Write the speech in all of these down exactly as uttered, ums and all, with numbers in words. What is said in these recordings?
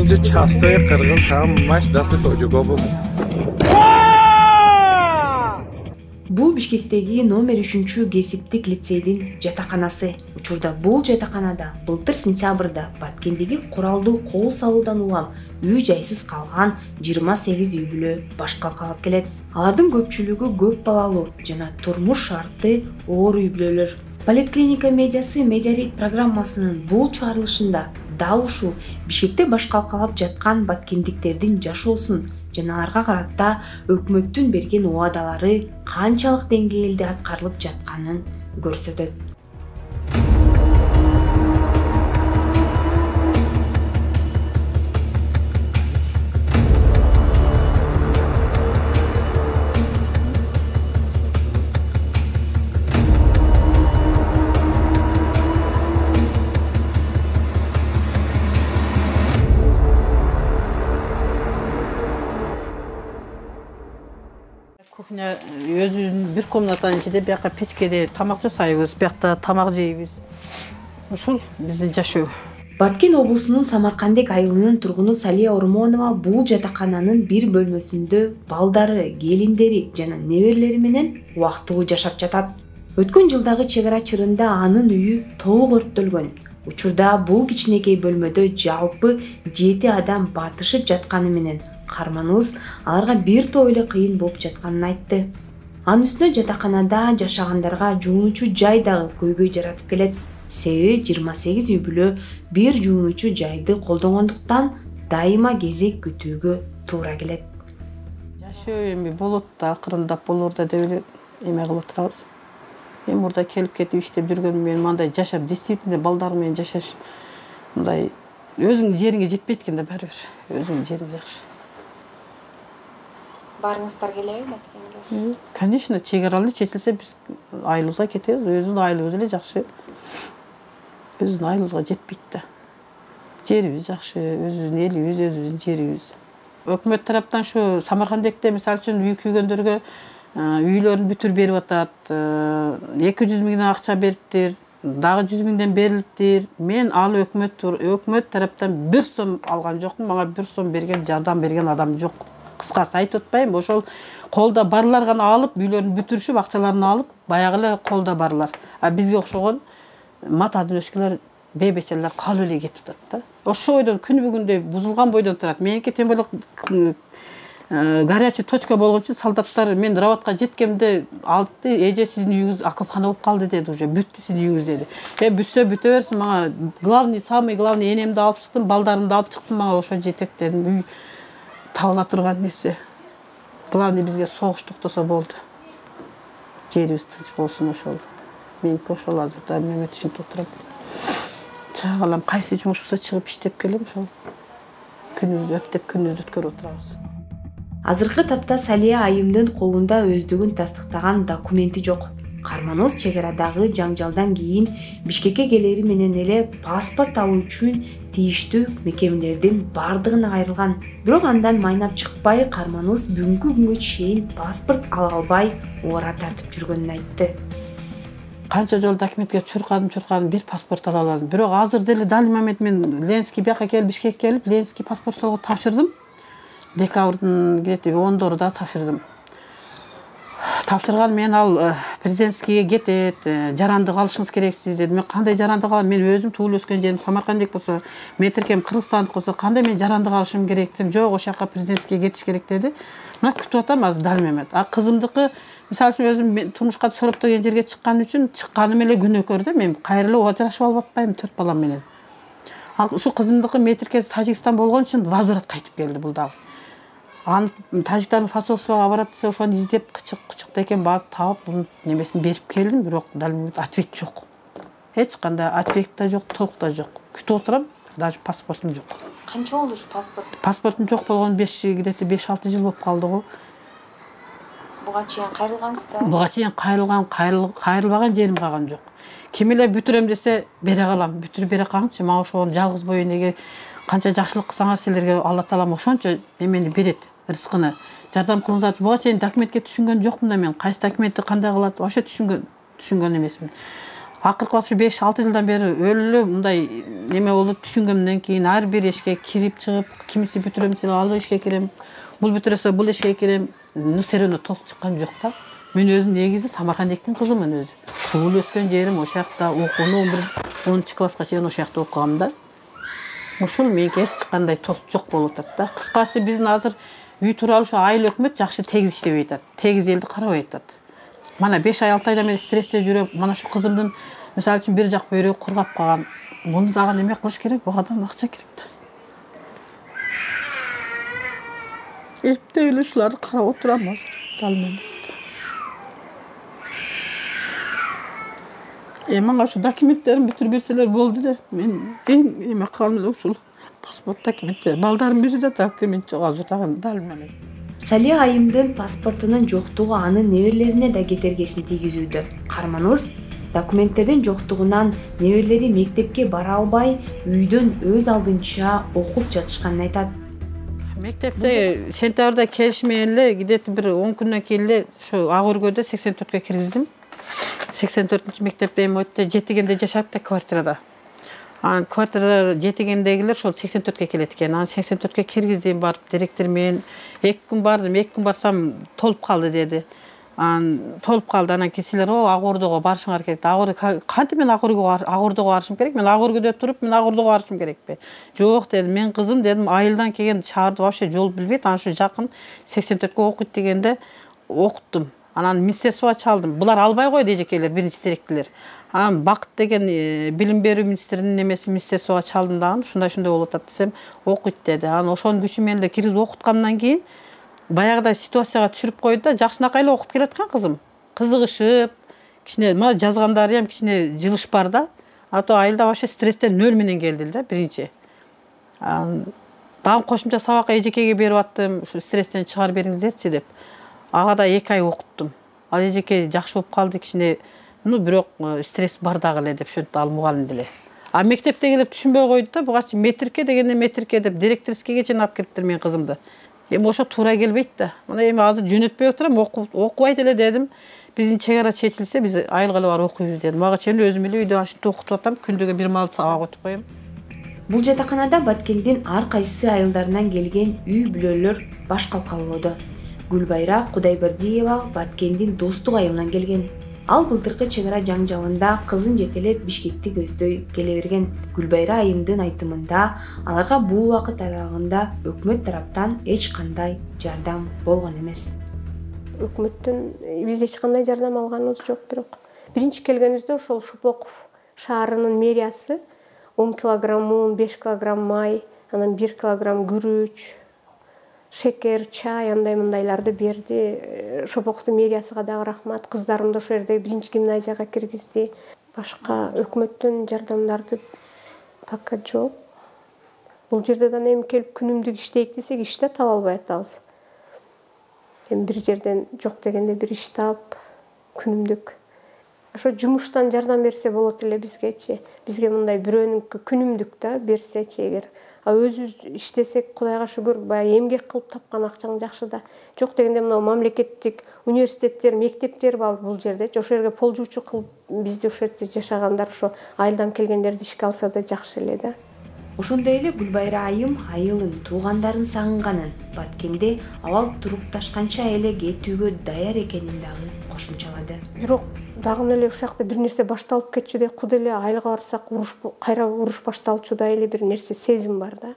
же частое кыргыз хаммаш дасы тожугобу. Бул Бишкектеги номер үчүнчү кесиптик лицейдин жатаканасы. Учурда бул жатаканада былтыр сентябрда Баткендеги куралдуу кол салуудан улам үй жайсыз калган жыйырма сегиз үй бүлө баш калкалап келет. Алардын көпчүлүгү көп балалуу жана турмуш шарты оор үй бүлөлөр. Поликлиника медиасы Медиарит программасынын бул чыгарылышында дал ушул Бишкекте баш калкалап жаткан баткендиктердин жашоосун жана аларга карата өкмөттүн берген убадалары канчалык деңгээлде аткарылып жатканын көрсөтөт. Кухня өзүнүн бир комнатанын ичинде бияка печкеде тамак жасайбыз, биякта тамак жейбиз. Ушул биздин жашоо. Баткен облусунун Самаркандек айылынын тургуну Салия Ормонова бул жатакананын бир бөлмөсүндө балдары, келиндери жана неберелери менен убактылуу жашап жатат. Өткөн жылдагы чек ара чырында анын үйү толук өрттөлгөн. Учурда бул кичинекей бөлмөдө жалпы жети адам батышып жатканы менен карманыбыз аларга бир топ эле кыйын болуп жатканын айтты. Анын үстүнө жатаканада жашагандарга жуунуучу жай дагы көйгөй жаратып келет. Себеби жыйырма сегиз үй бүлө бир жуунуучу жайды колдонгондуктан дайыма кезек күтүүгө туура келет. Жашоо эми болот да, акырындап болор да деп эле эме кылып турабыз. Эми мурда келип кетип иштеп жүргөнүм менен мындай жашап, действительно балдар менен жашаш мындай өзүңдүн жериңе жетпейт экен да баары бир. Өзүңдүн жериң жакшы. Барыңыздар келеби Баткенге? Конечно, чек аралуу чечилсе биз айылыбызга кетебиз. Өзүбүздүн айылыбыз эле жакшы. Өзүбүздүн айылыбызга жетпейт да. Жерибиз жакшы, өзүбүздүн элибиз, өзүбүздүн жерибиз. Өкмөт тараптан ушу Самаркандекте мисалы үчүн үй күйгөндөргө үйлөрүн бүтүр берип атат. эки жүз миңден акча бериптир, дагы жүз миңден берилиптир. Мен ал өкмөт өкмөт тараптан бир сом алган жокмун. Мага бир сом берген, жардам берген адам жок. Кыскасы айтып атпайм, ошол колдо барлар гана алып, үйлөрүн бүтүрүшүп, акчаларын алып, баягы эле колдо барлар. А бизге окшогон мата дөшкөлөр, бейбечелер калып эле кетип атат да. Ошо бойдон күнү бүгүндөй бузулган бойдон турат. Меники тем более горячий точка болгон үчүн солдаттар мен работка жеткенде алды, эже сиздин үйүңүз окопхана болуп калды деди, уже бүттү сиздин үйүңүз деди. Э бүтсө бүтө берсин, мага главный, самый главный энемди алып чыктым, балдарымды алып чыктым, мага ошо жетет дедим. Үй табыла турган нерсе. Главный бизге согуш токтосо болду. Жерибиз тынч болсун ошол. Меники ошол азырда эме түшүнүп отурам. Чагалам кайсы жумуш болсо чыгып иштеп келем, ошол. Күнүбүздү өттөп, күнүбүздү өткөрүп отурабыз. Азыркы тапта Салия айымдын колунда өздүгүн тастыктаган документи жок. Карманыбыз чек арадагы жаңжалдан кийин Бишкекке келери менен эле паспорт алуу үчүн тийиштүү мекемелердин бардыгына кайрылган. Бирок андан майнап чыкпай, карманыбыз бүгүнкү күнгө чейин паспорт ала албай ора тартып жүргөнүн айтты. Канча жолу документке чуркадым, чуркадым, бир паспорт ала албадым. Бирок азыр деле дал момент мен Ленинский бияка келип, Бишкекке келип, Ленинский паспортту тапшырдым. Декабрдын где-то ондорунда тапшырдым. Тапшырган мен ал президентскийге кетет, жарандык алышыңыз керексиз деди. Мен кандай жарандык алам? Мен өзүм туулуп өскөн жерим Самаркандек болсо, мен тиркем Кыргызстандык болсо, кандай мен жарандык алышым керек десем, жок, ошол жака президентскийге кетиш керек деди. Мына күтүп атам азыр дал момент. А кызымдыкы мисалы үчүн өзүм турмушка сороп деген жерге чыккан үчүн чыкканым эле күнөөкөр да. Мен кайра эле ажырашып алып атпайм төрт балам менен. Ал ушу кызымдыкы метиркеси Тажикстан болгон үчүн возврат кайтып келди бул дагы. Аны Тажиктардын посольствого барат десе, ошону издеп кычык-кычыкта экен барып таап, бунун немесин берип келдим, бирок дал ответ жок. Эч кандай ответ да жок, толук да жок. Күтүп отурам, даже паспортум жок. Канча болду ушу паспорт? Паспортум жок болгон где-то беш алты жыл болуп калды го. Буга чейин кайрылгансыздар? Буга чейин кайрылган, кайрылбаган жерим калган жок. Ким эле бүтүрөм десе, бере калам. Бүтүрүп бере калыңчы, мага ошого жалгыз боюн неге канча жакшылык кылсаңар силерге Алла таалам ошончо эмени берет, рызкыны. Жардам кылыңыздар. Буга чейин документке түшүнгөн жокмун да мен. Кайсы документти кандай кылат, вообще түшүнгөн, түшүнгөн эмесмин. акыркы ушу беш алты жылдан бери өлү мындай неме болуп түшүнгөндөн кийин ар бир эшикке кирип чыгып, кимиси бүтүрөм десе ал эшикке кирем, бул бүтүрөсө бул эшикке кирем, серөөнө толуп чыккан жок да. Мен өзүм негизи Самаркандектин кызымын өзү. Туулуп өскөн жерим ошол жакта, окууну бир онунчу класска чейин ошол жакта окугам да. Ушул меники эч кандай толуп жок болуп атат да. Кыскасы биздин азыр үй тууралуу ушу айыл өкмөт жакшы тегиз иштебей атат. Тегиз элди карабай атат. Мана беш ай алты айдан бери стрессте жүрөм. Мана ушу кызымдын мисалы үчүн бир жак бөйрөгү кургап калган. Муну дагы неме кылыш керек? Буга да акча керек да. Эптеп эле ушуларды карап отурам азыр. Дал мен. Э мага ушу документтерин бүтүрүп берселер болду эле. Мен эң эме калган эле ушул паспорт документтер. Балдарым бири да документ жок азыр дагы дал менен. Салия айымдын паспортунун жоктугу анын неберелерине да кетергесин тийгизүүдө. Карманыбыз документтердин жоктугунан неберелери мектепке бара албай, үйдөн өз алдынча окуп жатышканын айтат. Мектепте сентябрда келишмеген эле, где-то бир он күндөн кийин эле ушу ак өргөдө сексен төрткө киргиздим. сексен төртүнчү мектепте эми өтө жетигенде жашап да квартирада. Анан квартирада жетигендегилер ошол сексен төрткө келет экен. Анан сексен төрткө киргиздим, барып директор менен эки күн бардым. эки күн барсам толуп калды деди. Анан толуп калды. Анан кисилер о ак ордого барышыңар керек. Ак ордого кантип мен ак ордого ак ордого барышым керек? Мен ак өргөдө туруп, мен ак ордого барышым керекпи? Жок дедим. Мен кызым дедим, айылдан келген шаарды вообще жол билбейт. Анан ушу жакын сексен төрткө окуйт дегенде окуттум. Анан министерствого чалдым. Булар албай койду эжекейлер, биринчи директорлор. Анан Бакыт деген билим берүү министринин немеси министерствого чалдым дагы, ушундай ушундай болуп атат десем, окуйт деди. Анан ошонун күчү менен эле киргизип окуткандан кийин баягыдай ситуацияга түшүрүп койду да, жакшынакай эле окуп келаткан кызым. Кызыгышып, кичине мына жазгандары ham кичине жылыш бар да. А то айылда вообще стресстен нөл менен келди да биринчи. Анан дагы кошумча сабакка эжекеге берип аттым, ушу стресстен чыгарып бериңиздерчи деп. Ага да эки ай окуттум. Ал эжеке жакшы болуп калды, кичине, ну бирок стресс бар дагы эле деп шөнтүп ал мугалим деле. А мектептегилер түшүнбөй койду да, бугачы метрикке дегенде метрикке деп директорскийге чейин алып келиптир менин кызымды. Эми ошо туура келбейт да. Мына эми азыр жөнөтпөй отурам, окубайт эле дедим. Биздин чек ара чечилсе, биз айылга эле барып окуйбуз дедим. Мага чейин өзүм эле үйдө ушинтип окутуп атам, күндүгө бир маал сабак өтүп коем. Бул жатаканада Баткендин ар кайсы айылдарынан келген үй бүлөлөр баш калкалоодо. Гүлбайра Кудайбердиева Баткендин Достук айылынан келген. Ал былтыркы чек ара жаңжалында кызын жетелеп Бишкекти көздөй келе берген. Гүлбайра айымдын айтымында аларга бул убакыт аралыгында өкмөт тараптан эч кандай жардам болгон эмес. Өкмөттөн биз эч кандай жардам алганыбыз жок, бирок биринчи келгенибизде ошол Шопоков шаарынын мэриясы он килограмм un, беш килограмм май, анан бир килограмм күрүч, шекер, чай, андай мындайларды берди. Шопоковдун мэриясыга дагы рахмат. Кыздарымды ошол жерде биринчи гимназияга киргизди. Башка өкмөттүн жардамдарды пока жок. Бул жерде да эми келип күнүмдүк иштейт десек, иш да таба албай атабыз. Эми бир жерден жок дегенде бир иш таап, күнүмдүк. Ошо жумуштан жардам берсе болот эле бизгечи. Бизге мындай бирөөнүнкү күнүмдүк да берсечи эгер. А өзүбүз иштесек, Кудайга шүгүр, баягы эмгек кылып тапкан акчаң жакшы да. Жок дегенде мына мамлекеттик университеттер, мектептер бар бул жердечи. Ошол жерге полжуучу кылып бизди ошол жерде жашагандар, ошо айылдан келгендерди ишке алса да жакшы эле да. Ошондой эле Гүлбайра айым айылын, туугандарын сагынганын, Баткенде абал турукташканча эле кетүүгө даяр экенин дагы кошумчалады. Бирок дагы эле ушул жакта бир нерсе башталып кетчүдөй, кудай эле айылга барсак, уруш кайра уруш башталчудай эле бир нерсе сезим бар да.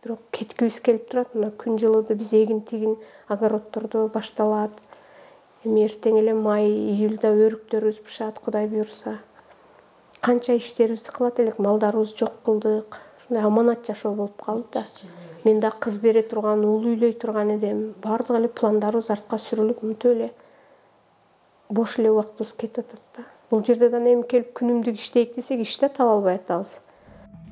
Бирок кеткибиз келип турат. Мына күн жылыды, биз эгин тигин огороддордо башталат. Эми эртең эле май, июлда өрүктөрүбүз бышат, Кудай буйрса. Канча иштерибизди кылат элек, малдарыбызды жок кылдык. Ушундай аманат жашоо болуп калды да. Мен да кыз бере турган, уул үйлөй турган эдим. Бардык эле пландарыбыз артка сүрүлүп, мынтип эле бош эле убактыбыз кетип атат да. Бул жерде да эми келип күнүмдүк иштейт десек, иш да таба албай атабыз.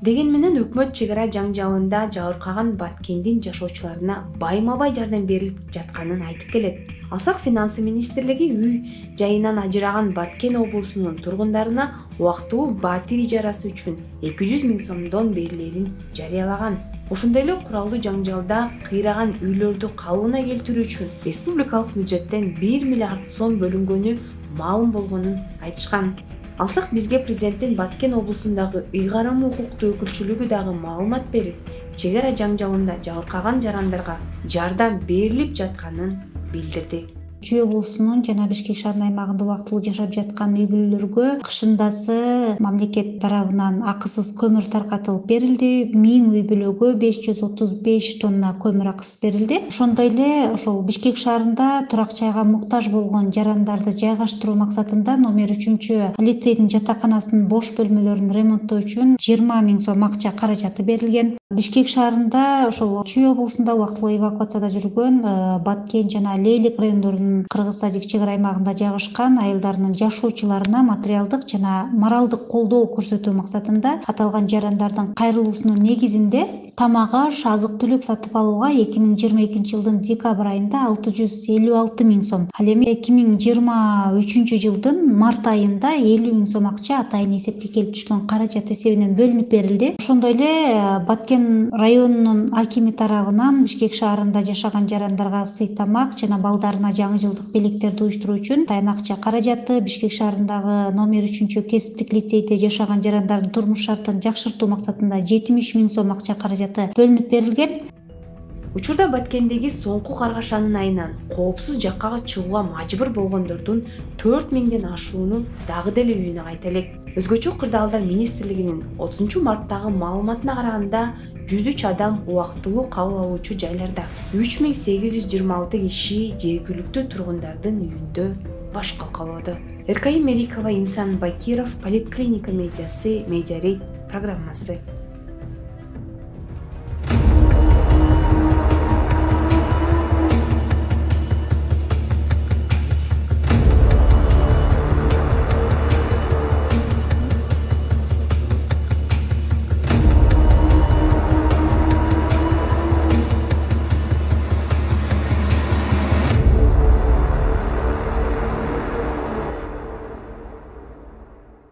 Деген менен өкмөт чек ара жаңжалында жабыркаган Баткендин жашоочуларына байма-бай жардам берилип жатканын айтып келет. Алсак финансы министрлиги үй жайынан ажыраган Баткен облусунун тургундарына убактылуу батир ижарасы үчүн эки жүз миң сомдон берилерин жарыялаган. Ошондой эле куралдуу жаңжалда кыйраган үйлөрдү калыбына келтирүү үчүн республикалык бюджеттен бир миллиард сом бөлүнгөнү маалым болгонун айтышкан. Алсак бизге президенттин Баткен облусундагы ыйгарым укуктуу өкүлчүлүгү дагы маалымат берип, чек ара жаңжалында жабыркаган жарандарга жардам берилип жатканын билдирди. Чүй облусунун жана Бишкек шаарынын аймагында убактылуу жашап жаткан үй бүлөлөргө кышындасы мамлекет тарабынан акысыз көмүр таркатылып берилди. миң үй бүлөгө беш жүз отуз беш тонна көмүр акысыз берилди. Ошондой эле ошол Бишкек шаарында турак жайга муктаж болгон жарандарды жайгаштыруу максатында номер үчүнчү лицейдин жатаканасынын бош бөлмөлөрүн ремонттоо үчүн жыйырма миң сом акча каражаты берилген. Бишкек шаарында ошол Чүй облусунда убактылуу эвакуацияда жүргөн Баткен жана Лейлик райондорунун Кыргыз-Тажик чек ара аймагында жайгашкан айылдарынын жашоочуларына материалдык жана моралдык колдоо көрсөтүү максатында аталган жарандардын кайрылуусунун негизинде тамак аш, азык-түлүк сатып алууга эки миң жыйырма экинчи жылдын декабрь айында алты жүз элүү алты миң сом, ал эми эки миң жыйырма үчүнчү жылдын март айында элүү миң сом акча атайын эсепке келип түшкөн каражат эсебинен бөлүнүп берилди. Ошондой эле Баткен районунун акими тарабынан Бишкек шаарында жашаган жарандарга сый тамак жана балдарына жаңы жылдык белектерди уюштуруу үчүн атайын акча каражаты Бишкек шаарындагы номер үчүнчү кесиптик лицейде жашаган жарандардын турмуш шартын жакшыртуу максатында жетимиш миң сом акча каражаты бөлүнүп берилген. Учурда Баткендеги соңку Каргашанын айынан коопсуз жакка чыгууга мажбур болгондордун төрт миңден ашууну дагы деле үйүнө кайта элек. Өзгөчө кырдаалдар министрлигинин отузунчу марттагы маалыматына караганда жүз үч адам убактылуу кабыл алуучу жайларда, үч миң сегиз жүз жыйырма алты киши жергиликтүү тургундардын үйүндө баш калкалоодо. Эркайым Мерикова, Инсан Бакиров, Политклиника медиасы, Медиарейт программасы.